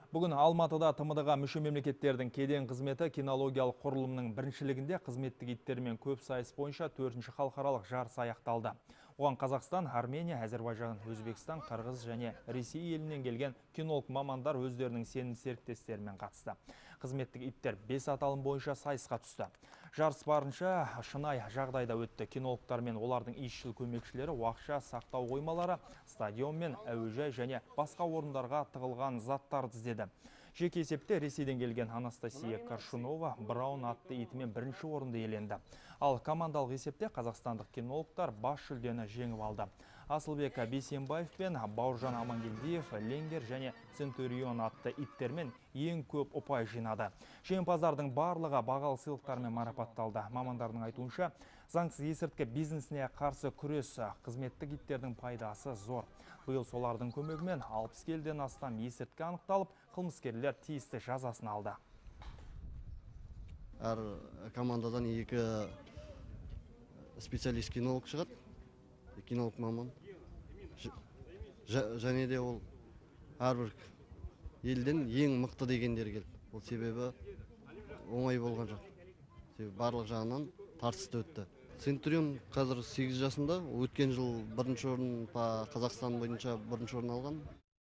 Бүгін Алматыда ТМД-ға мүше мемлекеттердің кеден қызметі кинологиялық құрылымның біріншілігінде қызметтік иттермен көп сайыс бойынша 4-ші халықаралық жарыс аяқталды. Оған Қазақстан, Армения, Әзербайжан, Өзбекстан, Қырғыз және Ресей елінен келген кинолог мамандар өздерінің сенімді серіктестерімен қатысты. Қызметтік иттер 5 аталым бойынша сайысқа түсті. Жарыс барынша шынай жағдайда өтті. Кинологтар мен олардың исшіл көмекшілері уақытша сақтау қоймалары, стадион мен әуежай және басқа орындарға тығылған заттарды іздеді. Жеке есепте Ресейден келген Анастасия Коршунова Браун атты итімен бірінші орынды иеленді. Ал командалық есепте қазақстандық кинологтар бас жүлдені жеңіп алды. Асылбек Бейсенбаев пен Бауыржан Амангелдиев Ленгер және Центурион атты иттермен ең көп ұпай жинады. Жеңімпаздардың барлығы бағалы сыйлықтармен марапатталды. Мамандардың айтуынша, заңсыз есірткі бизнесіне қарсы күрес қызметтік иттердің пайдасы зор. Биыл солардың көмегімен 60 келіден астам есірткі анықталып, қылмыскерлер тиісті жазасын алды. Әр командадан екі специалист кинолог шығады, кинолог маман. Және де ол әрбір елден ең мықты дегендер келді. Ол себебі оңай болған жоқ. Барлық жағынан тартысты өтті. Центурион қазір 8 жасында, өткен жыл бірінші орын Қазақстан бойынша бірінші орын алған.